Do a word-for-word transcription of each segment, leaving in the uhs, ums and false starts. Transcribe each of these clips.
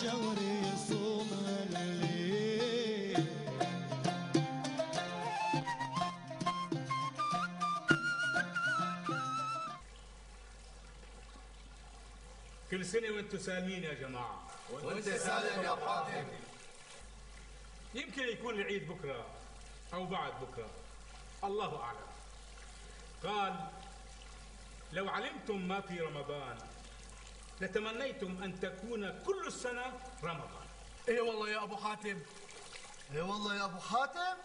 الشهر يصوم الليل. كل سنة وانتم سالمين يا جماعة. وانت سالم يا حاتم. يمكن يكون العيد بكرة أو بعد بكرة، الله أعلم. قال: لو علمتم ما في رمضان لتمنيتم أن تكون كل السنة رمضان. ايه والله يا أبو حاتم. ايه والله يا أبو حاتم.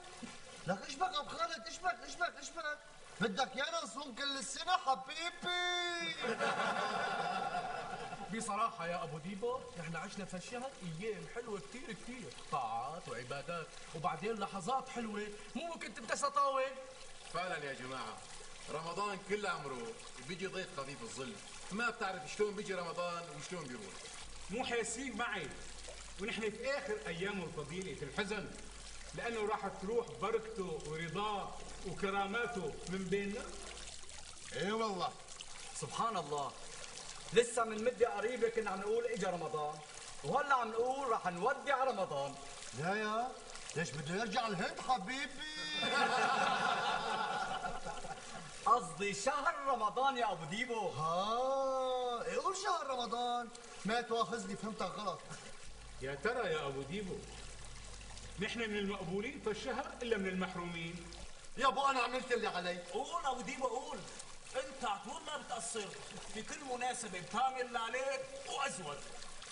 لك ايش بك أبو خالد؟ ايش بك ايش بك ايش بك؟ بدك يانا نصوم كل السنة حبيبي؟ بصراحة يا أبو ديبو نحن عشنا في الشهر أيام حلوة كتير كتير، طاعات وعبادات، وبعدين لحظات حلوة مو ممكن تنتسى طاول. فعلا يا جماعة، رمضان كل عمره بيجي ضيف خفيف الظل، ما بتعرف شلون بيجي رمضان وشلون بيروح. مو حاسين معي ونحن في آخر أيامه الفضيلة الحزن، لأنه راح تروح بركته ورضاه وكراماته من بيننا. ايه والله سبحان الله، لسه من مدة قريبة كنا عم نقول اجا رمضان، وهلا عم نقول رح نودع رمضان. لا يا ليش بده يرجع الهند حبيبي؟ قصدي شهر رمضان يا ابو ديبو. ها إيه قول شهر رمضان، ما تواخذني فهمتك غلط. يا ترى يا أبو ديبو، نحن من المقبولين في الشهر إلا من المحرومين؟ يا ابو انا عملت اللي علي. قول ابو ديبو قول، انت عطول ما بتقصر في كل مناسبة بتعمل اللي عليك وازود.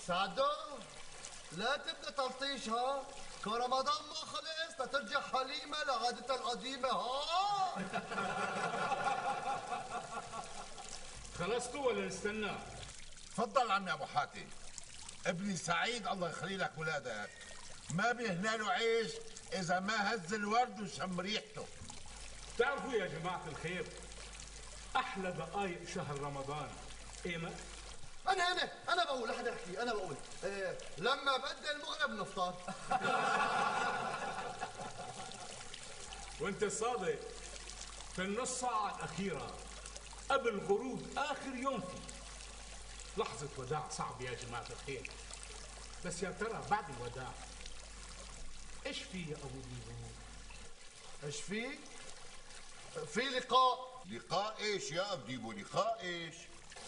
سعدو لا تبدا تلطيش ها، كان رمضان ما خلص لترجع حليمه لعادتها القديمه ها. خلصتوا ولا نستنى؟ تفضل عمي ابو حاتم، ابني سعيد الله يخلي لك ولادك، ما بيهنا له عيش اذا ما هز الورد وشم ريحته. تعرفوا يا جماعة الخير، أحلى دقائق شهر رمضان إيمت؟ انا انا انا بقول لحد احكي انا بقول إيه لما بدأ المغرب نفطر. وانت صادق، في النص ساعة الأخيرة قبل غروب آخر يوم فيه لحظة وداع صعب يا جماعة الخير. بس يا ترى بعد الوداع ايش في يا ابو ديبو؟ ايش في؟ في لقاء. لقاء ايش يا ابو ديبو؟ لقاء ايش؟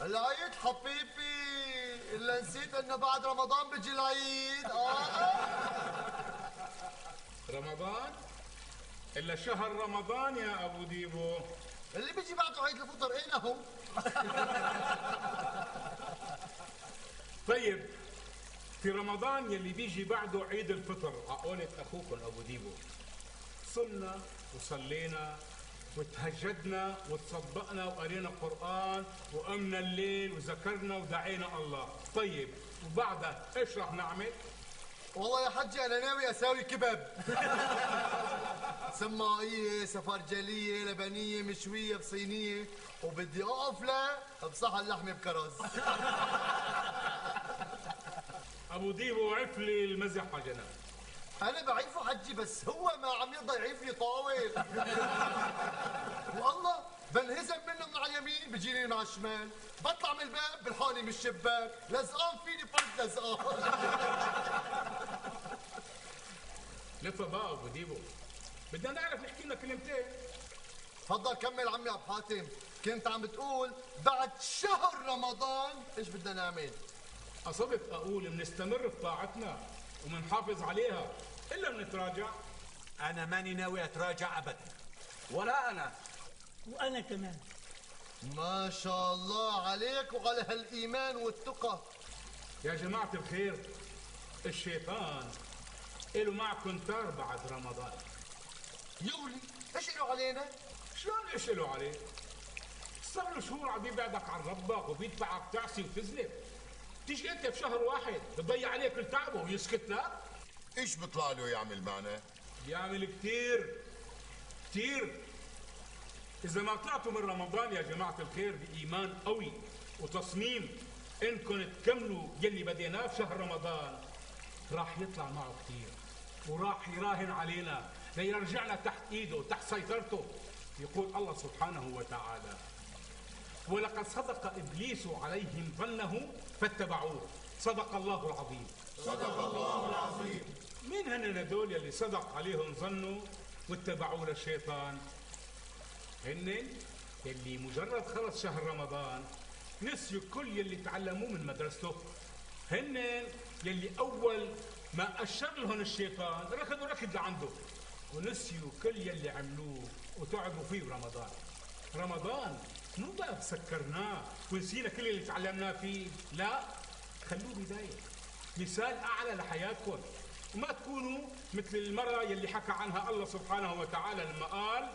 العيد حبيبي، الا نسيت انه بعد رمضان بيجي العيد. اه رمضان؟ الا شهر رمضان يا ابو ديبو اللي بيجي بعده عيد الفطر. اين هو؟ طيب في رمضان يلي بيجي بعده عيد الفطر، عقولة اخوكم ابو ديبو، صلنا وصلينا وتهجدنا وتصدقنا وقرينا قرآن وقمنا الليل وذكرنا ودعينا الله. طيب وبعدها ايش رح نعمل؟ والله يا حجي انا ناوي اساوي كباب. سماعية سفرجلية لبنية مشوية بصينية، وبدي اقف لا بصحن لحمة بكرز. ابو ديبو عف لي المزح على جنب. انا بعيفه حجي بس هو ما عم يرضى يعيف لي طاول. والله بنهزم منه من على اليمين بيجيني من على الشمال، بطلع من الباب بلحقني من الشباك، لزقان فيني فرد لزقان. لفه بقى ابو ديبو، بدنا نعرف نحكي لنا كلمتين. تفضل كمل عمي ابو حاتم. كنت عم بتقول بعد شهر رمضان ايش بدنا نعمل؟ قصدت اقول بنستمر في طاعتنا ومنحافظ عليها الا بنتراجع. انا ماني ناوي اتراجع ابدا. ولا انا. وانا كمان. ما شاء الله عليك وعلى هالايمان والتقى. يا جماعه الخير، الشيطان له معكم تار بعد رمضان. يولي ايش له علينا؟ شلون ايش له عليه؟ صار له شهور عم يبعدك عن ربك وبيدفعك تعصي وتزلف، تيجي انت بشهر واحد بتضيع عليك كل تعبه ويسكت لك؟ ايش بيطلع له يعمل معنا؟ بيعمل كثير كثير. اذا ما طلعتوا من رمضان يا جماعه الخير بايمان قوي وتصميم انكم تكملوا يلي بديناه في شهر رمضان، راح يطلع معه كثير وراح يراهن علينا ليرجعنا تحت ايده وتحت سيطرته. يقول الله سبحانه وتعالى: ولقد صدق إبليس عليهم ظنه فاتبعوه. صدق الله العظيم. صدق الله العظيم. مين هن هدول يلي صدق عليهم ظنه واتبعوا للشيطان؟ هن يلي مجرد خلص شهر رمضان نسيوا كل يلي تعلموه من مدرسته. هن يلي أول ما أشر لهم الشيطان ركضوا ركض لعنده ونسيوا كل يلي عملوه وتعبوا فيه برمضان. رمضان مو بس سكرناه ونسينا كل اللي تعلمناه فيه، لا، خلوه بداية مثال أعلى لحياتكم، وما تكونوا مثل المرأة يلي حكى عنها الله سبحانه وتعالى لما قال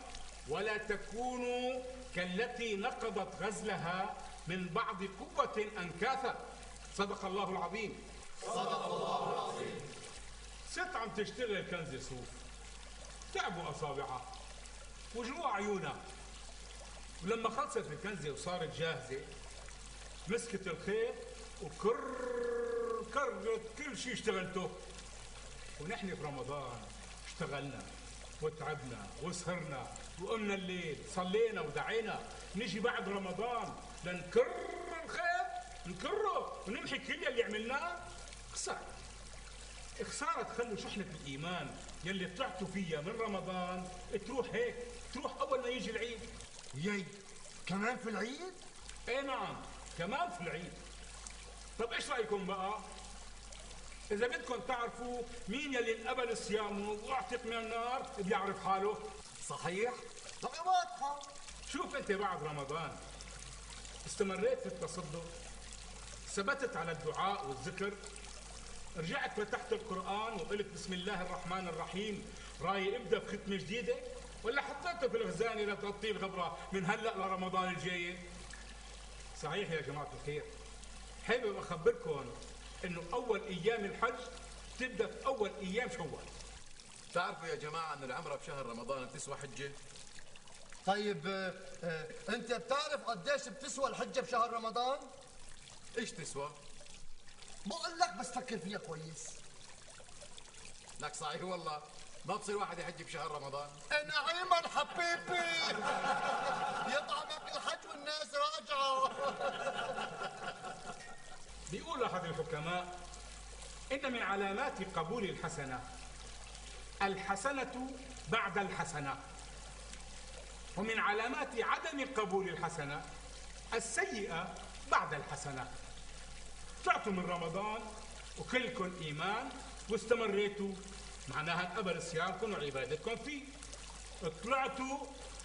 ولا تكونوا كالتي نقضت غزلها من بعض قوة أنكاثا. صدق الله العظيم. صدق الله العظيم. ست عم تشتغل كنزة صوف، تعبوا أصابعها وجوع عيونها، ولما خلصت الكنزة وصارت جاهزة مسكت الخيط وكر كرت كل شيء اشتغلته. ونحن في رمضان اشتغلنا وتعبنا وسهرنا وقمنا الليل صلينا ودعينا، نجي بعد رمضان لنكر الخيط نكره ونمحي كل اللي عملناه. خسارة خسارة تخلوا شحنة الإيمان يلي طلعتوا فيها من رمضان تروح هيك، تروح أول ما يجي العيد. يي كمان في العيد؟ ايه نعم كمان في العيد. طب ايش رايكم بقى اذا بدكم تعرفوا مين يلي انقبل صيامه واعتق من النار بيعرف حاله؟ صحيح؟ طب واضحة. شوف انت بعد رمضان استمريت في التصدق، ثبتت على الدعاء والذكر، رجعت فتحت القرآن وقلت بسم الله الرحمن الرحيم راي ابدا بختمه جديده، ولا حطيته في الخزانه لتغطي الغبره من هلا لرمضان الجاي؟ صحيح يا جماعه الخير، حابب اخبركم انه اول ايام الحج تبدا في اول ايام شوال. تعرفوا يا جماعة أن العمرة بشهر رمضان بتسوى حجة؟ طيب آه، آه، انت بتعرف قديش بتسوى الحجة بشهر رمضان؟ إيش تسوى؟ بقول لك بس فكر فيها كويس. لك صحيح والله ما بصير واحد يحج بشهر رمضان. نعيما حبيبي يطعمك الحج والناس راجعة. بيقول احد الحكماء ان من علامات قبول الحسنه الحسنه بعد الحسنه، ومن علامات عدم قبول الحسنه السيئه بعد الحسنه. طلعتوا من رمضان وكلكم ايمان واستمريتوا، معناها انقبل صيامكم وعبادتكم فيه. طلعتوا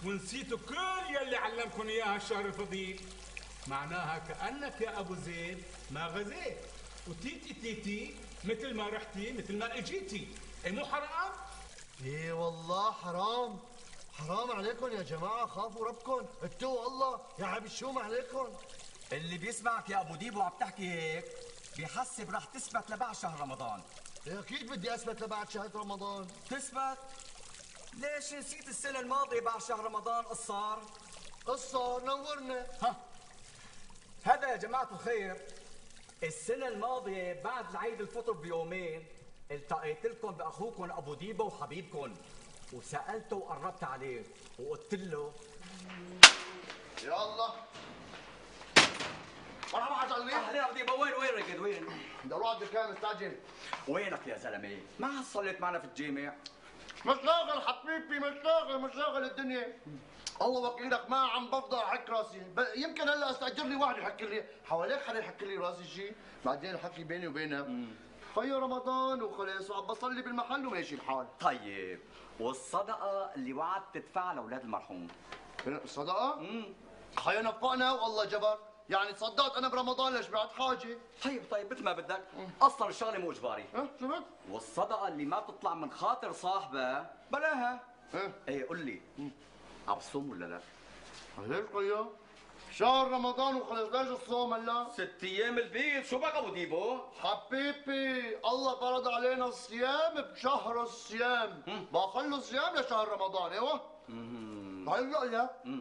ونسيتوا كل يلي علمكم اياها الشهر الفضيل، معناها كانك يا ابو زيد ما غزيت، وتيتي تيتي مثل ما رحتي مثل ما اجيتي. اي مو حرام؟ ايه والله حرام، حرام عليكم يا جماعة، خافوا ربكم، اتقوا الله يا عم الشوم عليكم. اللي بيسمعك يا ابو ديبو عم تحكي هيك بيحسب رح تثبت لبعد شهر رمضان. إيه اكيد بدي اثبت لبعد شهر رمضان. تثبت؟ ليش نسيت السنة الماضية بعد شهر رمضان قص صار؟ قصة نورنا. ها هذا يا جماعة الخير السنة الماضية بعد العيد الفطر بيومين التقيت لكم بأخوكم أبو ديبو وحبيبكم، وسألته وقربت عليه وقلت له يا الله مرحبا حاج علي. أهلا أبو ديبو. وين وين رقد وين؟ بدي اروح على الدكان مستعجل. وينك يا زلمة؟ ما صليت معنا في الجامع؟ مشاغل حبيبي، مشاغل مشاغل الدنيا. الله وكيلك ما عم بفضل احك راسي، ب- يمكن هلا استاجر لي واحد يحك لي حواليك، حدا يحك لي راسي شيء، بعدين الحكي بيني وبينك خيو رمضان وخلص وعم بصلي بالمحل وماشي الحال. طيب والصدقة اللي وعدت تدفعها لأولاد المرحوم؟ الصدقة؟ امم خيو نفقنا والله جبر، يعني تصدقت انا برمضان ليش بعد حاجه؟ طيب طيب مثل ما بدك، اصلا الشغله مو اجباري. ها شفت؟ والصدقه اللي ما بتطلع من خاطر صاحبها بلاها. ايه ايه قل لي عم تصوم ولا لا؟ ليش خيو؟ شهر رمضان وخلص، ليش الصوم هلا؟ ست ايام البيض، شو بك ابو ديبو؟ حبيبي الله فرض علينا الصيام بشهر الصيام، بخلوا الصيام لشهر رمضان. ايوه هلا لا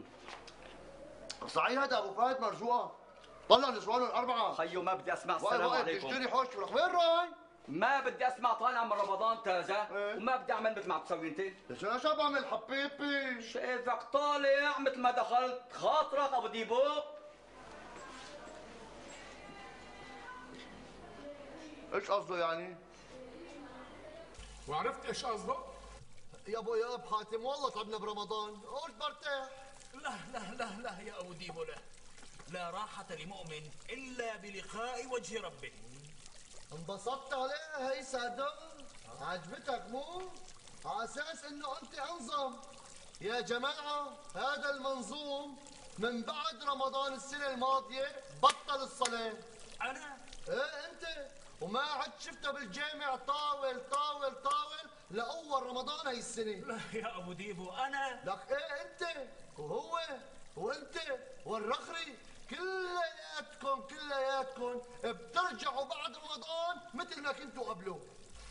صحيح هذا ابو فهد مرزوقه طلع نسوانه الاربعه. خيو ما بدي اسمع السلام عليكم. تشتري حوش لك وين راي؟ ما بدي اسمع طالع من رمضان تازه. ايه؟ وما بدي اعمل مثل ما عم تسوي انت. ليش انا شو بعمل حبيبي؟ شايفك طالع مثل ما دخلت خاطرك ابو ديبو. ايش قصده يعني؟ وعرفت ايش قصده؟ يا ابو يا اب حاتم والله تعبنا برمضان، قلت برتاح. لا لا لا لا يا أبو ديبو، لا لا راحة لمؤمن إلا بلقاء وجه ربه. انبسطت عليها هي سعدة؟ عجبتك مو؟ على اساس انه انت انظم. يا جماعة هذا المنظوم من بعد رمضان السنة الماضية بطل الصلاة. أنا؟ ايه انت، وما عد شفته بالجامع طاول طاول طاول لأول رمضان هي السنة. لا يا أبو ديبو أنا. لك ايه انت وهو وانت والرخري كلياتكم كلياتكم بترجعوا بعد رمضان مثل ما كنتوا قبله.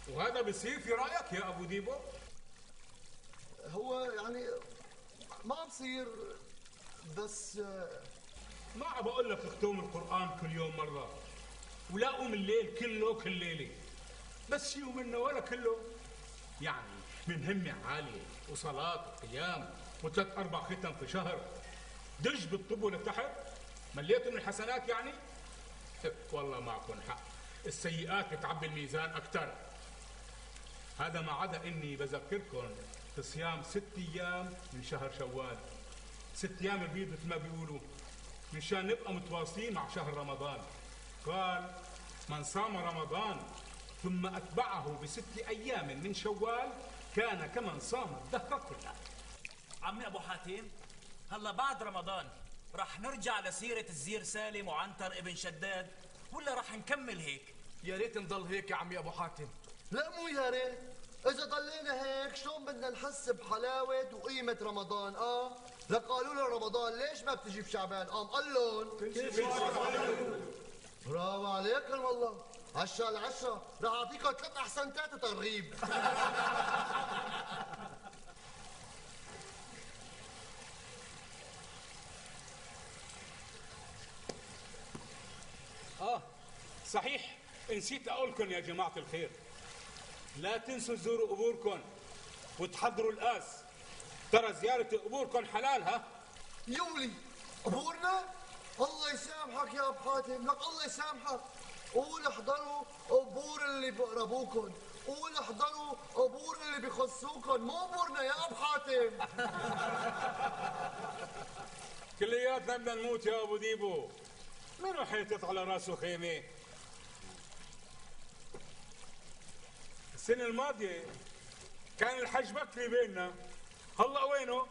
وهذا بصير في رايك يا ابو ديبو؟ هو يعني ما بصير، بس ما عم بقول لك اختم القران كل يوم مره، ولا قوم الليل كله كل ليله، بس شيء منه ولا كله. يعني من همه عاليه وصلاه وقيام وثلاث اربع ختم في شهر، دج بالطب لتحت، مليتوا من الحسنات يعني؟ والله معكم حق، السيئات بتعبي الميزان اكثر. هذا ما عدا اني بذكركم في صيام ست ايام من شهر شوال، ست ايام البيض مثل ما بيقولوا، مشان نبقى متواصلين مع شهر رمضان. قال من صام رمضان ثم اتبعه بست ايام من شوال كان كمن صام الدهر كله. عمي أبو حاتم، هلا بعد رمضان رح نرجع لسيرة الزير سالم وعنتر ابن شداد ولا رح نكمل هيك؟ يا ريت نضل هيك يا عمي ابو حاتم. لا مو يا ريت، إذا ضلينا هيك شلون بدنا نحس بحلاوة وقيمة رمضان؟ آه، لقالوا له رمضان ليش ما بتجي بشعبان؟ قام قال لهم برافو عليكم والله، عشرة على عشرة، رح أعطيكم ثلاث أحسنتات وترغيب. آه صحيح، نسيت أقولكم يا جماعة الخير، لا تنسوا تزوروا قبوركم وتحضروا القاس، ترى زيارة قبوركم حلال. ها يولي قبورنا؟ الله يسامحك يا أبو حاتم، لك الله يسامحك. قول احضروا قبور اللي بقربوكم، قول احضروا قبور اللي بيخصوكم، مو قبورنا يا أبو حاتم. كلياتنا بدنا نموت يا أبو ديبو، مين رح يحط على راسه خيمة؟ السنة الماضية كان الحج بكري بيننا، هلا وينه؟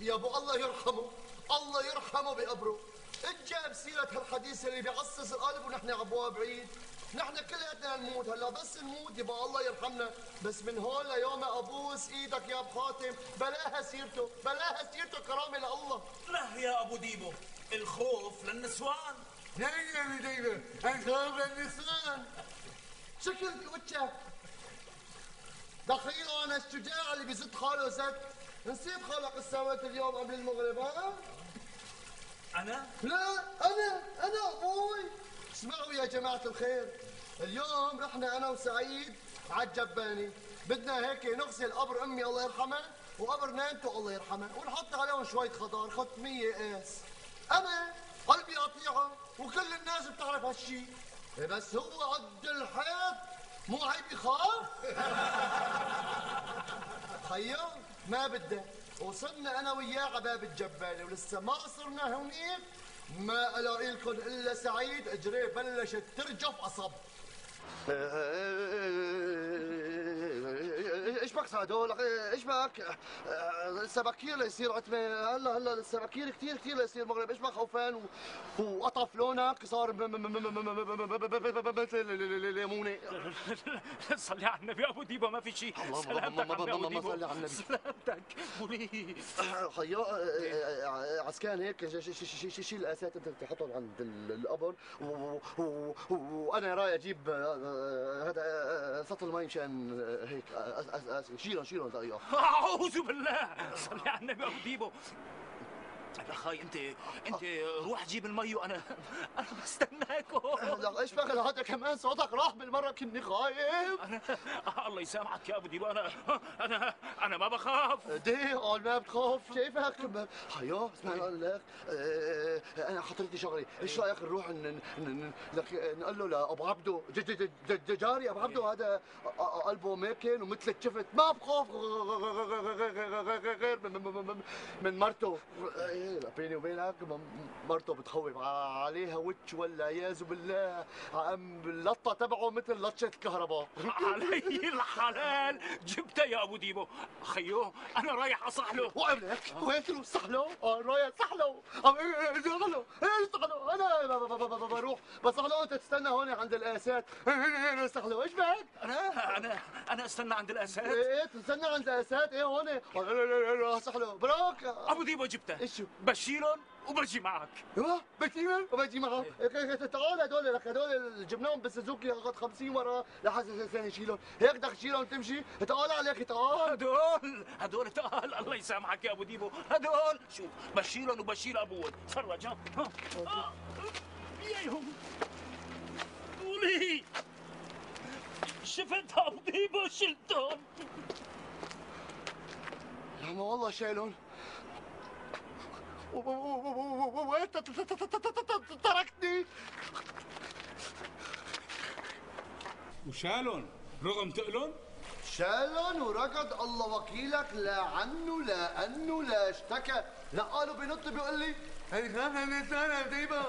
يا ابو الله يرحمه، الله يرحمه بقبره. اجاب سيرة هالحديث اللي بيعصص القلب ونحن عبواب بعيد. نحن كلياتنا نموت، هلا بس نموت يبقى الله يرحمنا، بس من هون ليوم ابوس ايدك يا ابو حاتم بلاها سيرته، بلاها سيرته كرامه لله. لا يا ابو ديبو، الخوف للنسوان. يا يا ديبو، الخوف للنسوان. شكل وجهك دخيله انا الشجاع اللي بيزت حاله زت. نسيب خلق السماوات اليوم قبل المغرب. ها؟ أنا؟ لا أنا أنا أبوي. اسمعوا يا جماعة الخير، اليوم رحنا أنا وسعيد على الجباني، بدنا هيك نغسل قبر أمي الله يرحمها وقبر نانتو الله يرحمها ونحط عليهم شوية خضار ختمية قاس. أنا قلبي قطيعة وكل الناس بتعرف هالشي، بس هو عد الحيط مو عيب يخاف. خيو ما بدك، وصلنا انا وياه على باب الجبانه ولسه ما صرنا هونيك ما الاقي لكم الا سعيد اجريه بلشت ترجف قصب. ايش بك سعدو؟ ايش بك؟ لسه بكير ليصير عتمه، هلا هلا لسه بكير كثير كثير ليصير مغرب. ايش بك خوفان وقطف لونك صار مثل الليمونه؟ صلي على النبي ابو ديبو، ما في شيء. سلامتك عمي ابو ديبو، صلي على النبي. سلامتك بولي. خيو عسكان هيك شيل الاسات انت تحطهم عند القبر، وانا رايح اجيب هذا سطل المي مشان هيك شيلهم شيلهم دقيقه. اعوذ بالله، صلي على النبي ابو ديبو. يا خاي انت انت روح جيب المي وانا انا بستناكم. اشبغل هذا كمان صوتك راح بالمره كني خايف. انا الله يسامحك يا ابو ديبو، انا انا انا ما بخاف. دي قال ما بتخاف، شايفك حيو. اسمعني اقول لك، اه انا خطرتني شغله، ايش رايك نروح نقول له لابو عبده جاري ابو عبده هذا قلبه ماكن ومثل الشفت، ما بخاف غير من مرته. بيني وبينك مرته بتخوف عليها وتش والعياذ بالله، اللطه تبعه مثل لطشه الكهرباء. علي الحلال جبتها يا ابو ديبو. خيو انا رايح اصح له. وقبلك وين تروح صح له؟ اه رايح صح له. صح له ايه صح له؟ انا بروح بصح له، انت تستنى هون عند القاسات. صح له ايش بك؟ انا انا انا استنى عند القاسات. ايه تستنى عند القاسات ايه هون؟ صح له براك. ابو ديبو جبتها. ايش شو؟ بشيلهم وبجي معك. ايوه بشيلهم وبجي معك. تعال هدول لك هدول جبناهم بالسوزوكي اخذ خمسين ورا لحد ثاني شيلهم، هيك بدك تشيلهم تمشي؟ تعال عليك تعال. هدول هدول تعال الله يسامحك يا ابو ديبو، هدول شوف بشيلهم وبشيل ابوهم. تفرج ها ها ياهم قولي شفت ابو ديبو شلتهم. يا عم والله شايلهم وانت تركتني. وشالهم رغم تقلن؟ شالن وركض الله وكيلك، لا عنه لا انه لا اشتكى، لا قالوا بينط بيقول لي هي خافها من سنه ديبو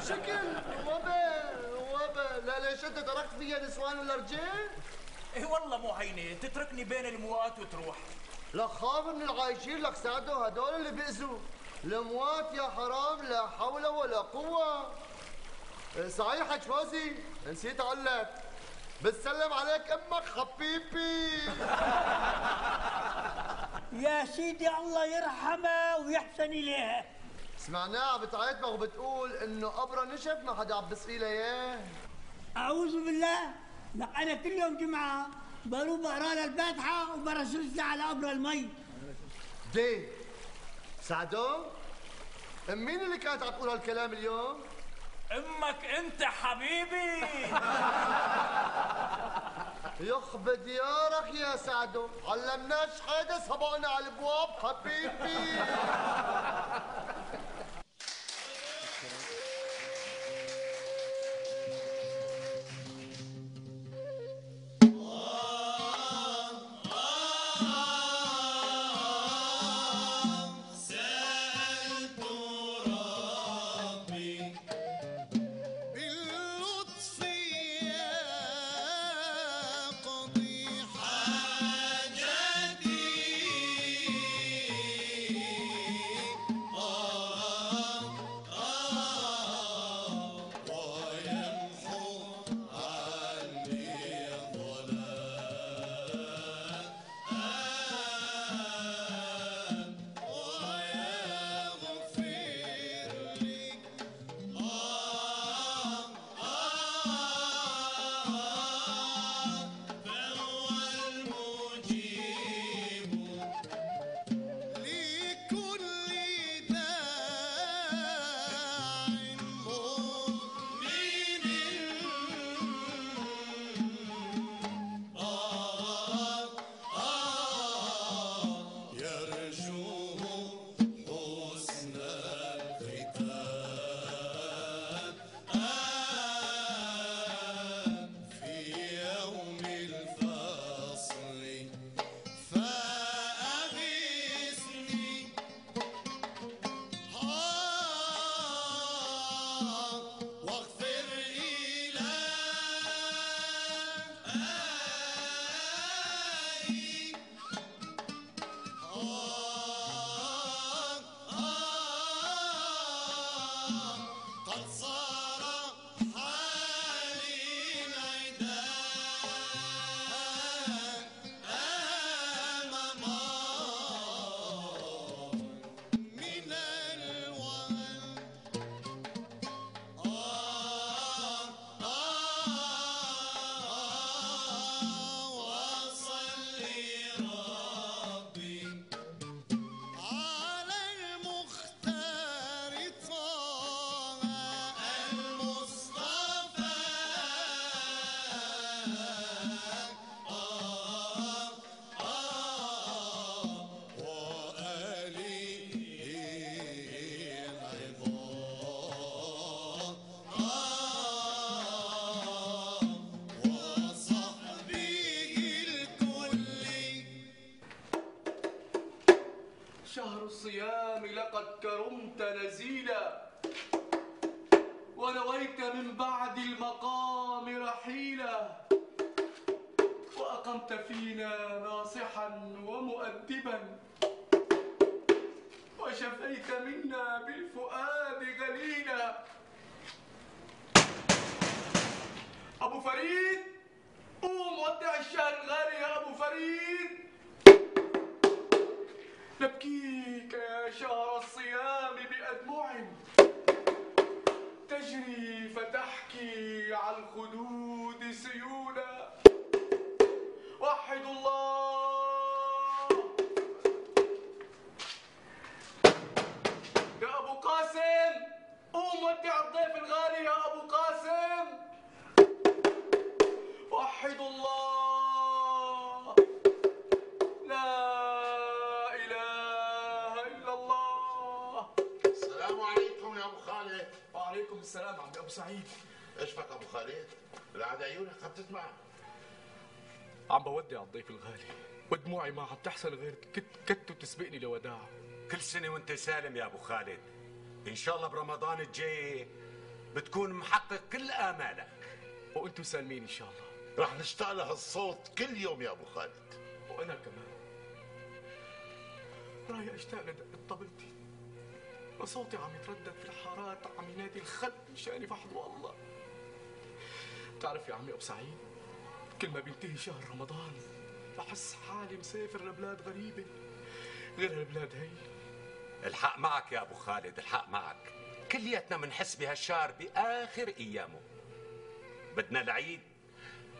شكل وبا وبا. لا ليش انت تركت فيها نسوان ولا رجال؟ ايه والله مو هينه تتركني بين الموات وتروح. لا خاف من العايشين لك ساعدوا هدول اللي بيأذوا الاموات يا حرام. لا حول ولا قوه. صحيح حج فوزي نسيت اقول لك بتسلم عليك امك حبيبي. يا سيدي الله يرحمها ويحسن اليها. سمعناها بتعيطنا وبتقول انه قبرها نشف ما حدا عم بسقي لها اياه. اعوذ بالله، لك انا كل يوم جمعه بروح بقرا لها الفاتحه وبرشش لها على قبرها المي. دي سعدو مين اللي كانت عم تقول هالكلام اليوم؟ امك انت حبيبي. يخبى ديارك يا سعدو، علمناش حدا سبقنا على الابواب حبيبي. Oh من بعد المقام رحيلا، وأقمت فينا ناصحا ومؤدبا، وشفيت منا بالفؤاد غليلا. أبو فريد، قوم ودع الشهر الغالي يا أبو فريد. نبكيك يا شهر الصيام بأدمع تجري فتحكي على الخدود سيولا. وحدوا الله. يا أبو قاسم، قوم ودع الضيف الغالي يا أبو قاسم. وحدوا الله. لا إله إلا الله. السلام عليكم يا ابو خالد. وعليكم السلام عمي ابو سعيد. ايش فك ابو خالد؟ العاد عيونك عم تدمع. عم بودع الضيف الغالي ودموعي ما عم تحصل غير كت كت وتسبقني لوداع. كل سنة وانت سالم يا ابو خالد. ان شاء الله برمضان الجاي بتكون محقق كل امالك. وانتم سالمين ان شاء الله. رح نشتاق لهالصوت كل يوم يا ابو خالد. وانا كمان رايح اشتاق لدقة طبلتي وصوتي عم يتردد في الحارات عم ينادي الخلق مشان يفحضوا الله. بتعرف يا عمي ابو سعيد، كل ما بينتهي شهر رمضان بحس حالي مسافر لبلاد غريبة غير البلاد هي. الحق معك يا ابو خالد، الحق معك. كلياتنا منحس بهالشهر باخر ايامه. بدنا العيد،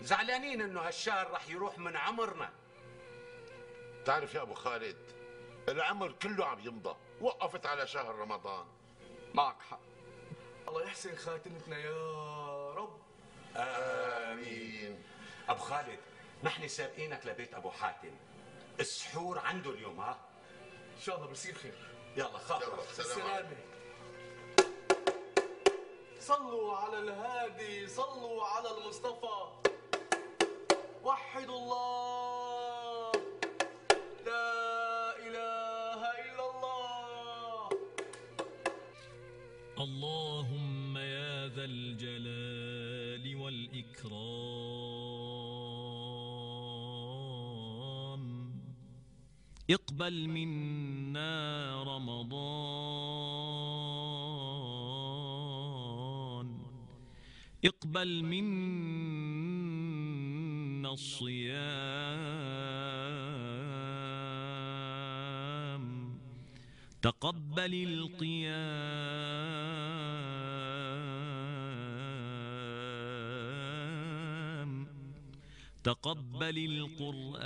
زعلانين انه هالشهر رح يروح من عمرنا. بتعرف يا ابو خالد، العمر كله عم يمضى، وقفت على شهر رمضان. معك حق. الله يحسن خاتمتنا يا رب. آمين. أبو خالد، نحن سابقينك لبيت أبو حاتم. السحور عنده اليوم، ها؟ إن شاء الله بصير خير. يلا خاطر. بالسلامة. صلوا على الهادي، صلوا على المصطفى. وحدوا الله. لا إله إلا الله. اللهم يا ذا الجلال والإكرام اقبل منا رمضان، اقبل منا الصيام، تقبل القيام، تقبل القرآن،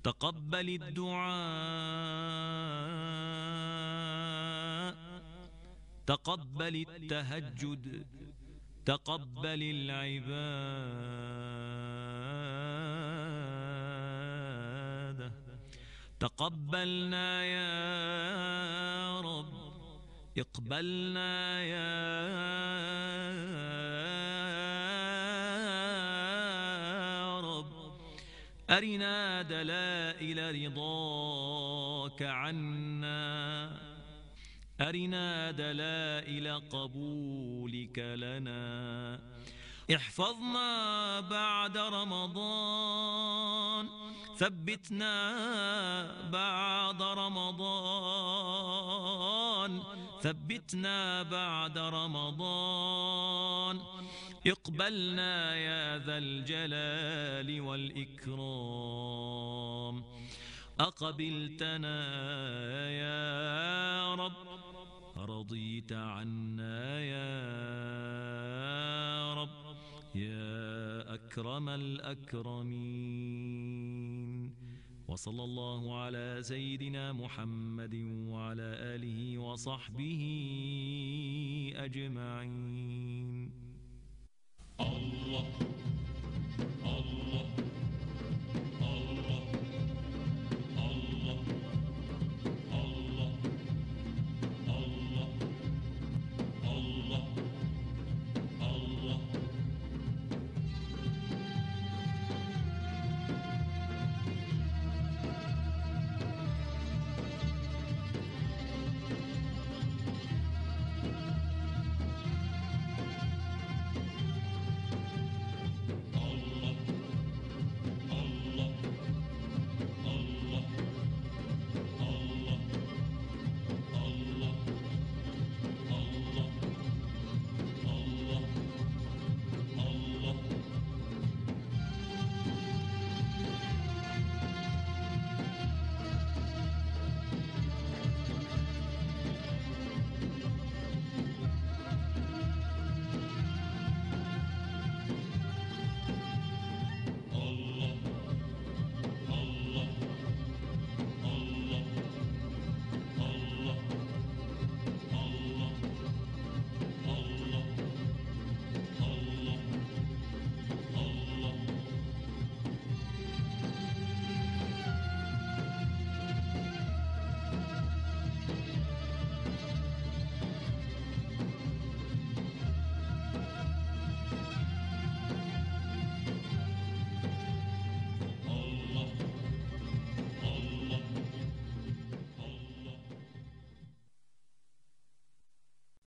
تقبل الدعاء، تقبل التهجد، تقبل العبادة. تقبلنا يا رب، اقبلنا يا رب، أرنا دلائل رضاك عنا، أرنا دلائل قبولك لنا. احفظنا بعد رمضان، ثبتنا بعد رمضان، ثبتنا بعد رمضان. اقبلنا يا ذا الجلال والإكرام. أقبلتنا يا رب، رضيت عنا يا رب، يا أكرم الأكرمين. وصلى الله على سيدنا محمد وعلى آله وصحبه أجمعين.